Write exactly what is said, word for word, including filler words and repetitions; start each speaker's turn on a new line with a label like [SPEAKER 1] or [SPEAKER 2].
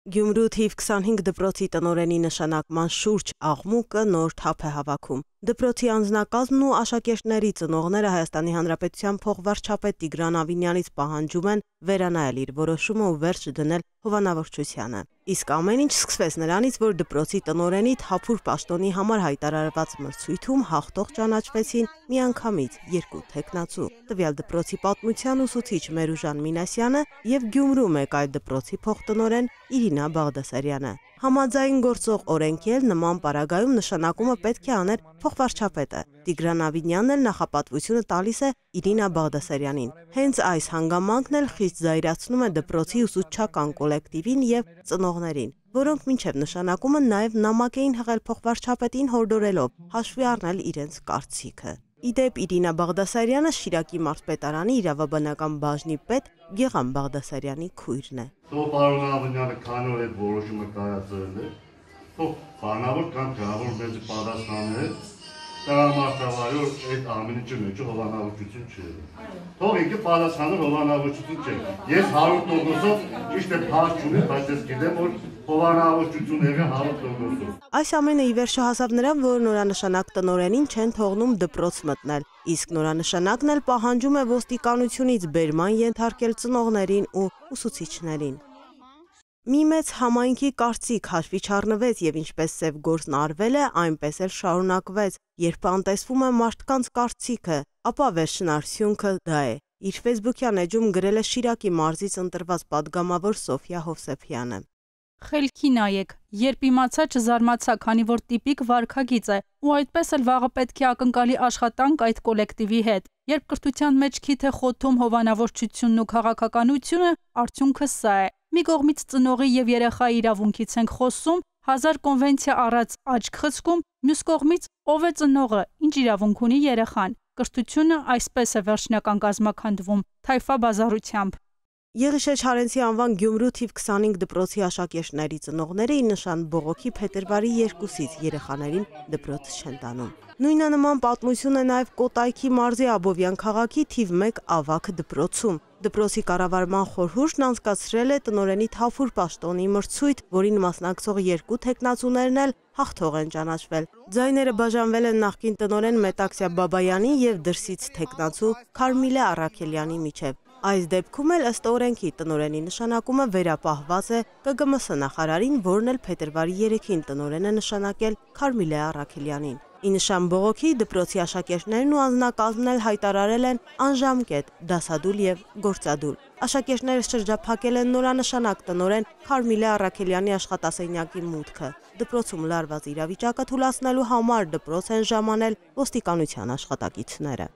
[SPEAKER 1] Գյումրու թիվ քսանհինգ դպրոցի տնօրենի նշանակման շուրջ աղմուկը նոր թափ է հավաքում։ Դպրոցի անձնակազմն ու աշակերտների ծնողները Հայաստանի Հանրապետության փոխվարչապետ Տիգրան Ավինյանից պահանջում են վերանայել իր որոշումը ու վերջ դնել հովանավորչությանը։ Իսկ ամեն ինչ սկսվեց նրանից, որ դպրոցի տնօրենի թափուր պաշտոնի համար հայտարարված մրցույթում հաղթող ճանաչվեցին միանգամից երկու թեկնածու։ Տվյալ դպրոցի պատմության ուսուցիչ Մերուժան Մինասյանը եւ Գյումրու մեկ այլ դպրոցի փոխտնօրեն Իրինա Բաղդասարյանը։ Համաձայն գործող օրենքի էլ նման պարագայում նշանակումը պետք է աներ փոխվարչապետը։ Տիգրան Ավինյանն էլ նախապատվությունը տալիս է Իրինա Բաղդասարյանին։ Հենց այս հանգամանքն էլ խիստ զայրացնում է դպրոցի ուսուցչական կոլեկտիվին եւ ծնողներին, որոնք մինչև նշանակումը նաև նամակ էին հղել փոխվարչապետին հորդորելով հաշվի առնել իրենց կարծիքը։ Իդեպ Իրինա Բաղդասարյանը Շիրակի մարզպետարանի իրավաբանական բաժնի պետ Գեղամ Բաղդասարյանի քույրն է։
[SPEAKER 2] Թող պարոն Ավինյանը քանի օր այդ որոշումը կայացրել է, թող բանավոր կամ գավոր մեծ պատասխանել, տղամարդավարի որ այդ ամեն ինչի մեջ հովանավորություն չէ։ Թող ինքը պատասխանը հովանավորություն չէ։ Ես հարյուր տոկոսով ճիշտ է փակ չունեմ, բայց ես գիտեմ որ հովանավորություն եղել հարյուր տոկոսով։
[SPEAKER 1] Այս ամենը ի վերջո հասավ նրան, որ նորանշանակ տնօրենին չեն թողնում դպրոց մտնել, իսկ նորանշանակն էլ պահանջում է ոստիկանությունից բերման ենթարկել ծնողներին ու ուսուցիչներին։ Մի մեծ համայնքի կարծիք հաշվի չառնվեց եւ ինչպես սև գործն արվել է, այնպես էլ շարունակվեց, երբ անտեսվում է մարդկանց կարծիքը, ապա վերջնարդյունքը դա է։ Իր ֆեյսբուքյան էջում գրել է Շիրակի մարզից ընտրված падգամավոր Սոֆիա Հովսեփյանը։
[SPEAKER 3] Խելքի նայեք, երբ իմացա չզարմացա, քանի որ տիպիկ վարքագիծ է, ու այդպես էլ վաղը պետք է ակնկալի աշխատանք այդ կոլեկտիվի հետ։ Երբ կրթության մեջ քիթ է խոթում հովանավորչությունն ու քաղաքականությունը, արդյունքը սա է։ Մի կողմից ծնողի եւ երեխայի իրավունքից ենք խոսում, հազար կոնվենցիա առած աչք խցկում, մյուս կողմից ով է ծնողը, ինչ իրավունք ունի երեխան։ Կրթությունը այսպես է վերջնական կազմաքանդվում, թայֆաբազարությամբ։
[SPEAKER 1] Եղիշե Չարենցի անվան Գյումրու թիվ քսանհինգ դպրոցի աշակերտների ծնողները ի նշան բողոքի փետրվարի երկուսից երեխաներին դպրոց չեն տանում։ Նույնանման պատմություն է նաև Կոտայքի մարզի Աբովյան քաղաքի թիվ մեկ ավագ դպրոցում։ Դպրոցի կառավարման խորհուրդն անցկացրել է տնօրենի թափուր պաշտոնի մրցույթ, որին մասնակցող երկու թեկնածուներն էլ հաղթող են ճանաչվել։ Ձայները բաժանվել են նախկին տնօրեն Մետաքսյա Բաբայանի եւ դրսից թեկնածու Քարմիլե Առաքելյանի միջև։ Այս դեպքում էլ ըստ օրենքի տնօրենի նշանակումը վերապահված է Կ Գ M S նախարարին, որն էլ փետրվարի երեքին տնօրեն է նշանակել Քարմիլե Առաքելյանին։ Ի նշան բողոքի դպրոցի աշակերտներն ու անձնակազմն էլ հայտարարել են անժամկետ, դասադուլ եւ գործադուլ։ Աշակերտները շրջափակել են նորանշանակ տնօրեն Քարմիլե Առաքելյանի աշխատասենյակի մուտքը։ Դպրոցում լարված իրավիճակը թույլատնելու համար դպրոց են ժամանել ոստիկանության աշխատակիցները։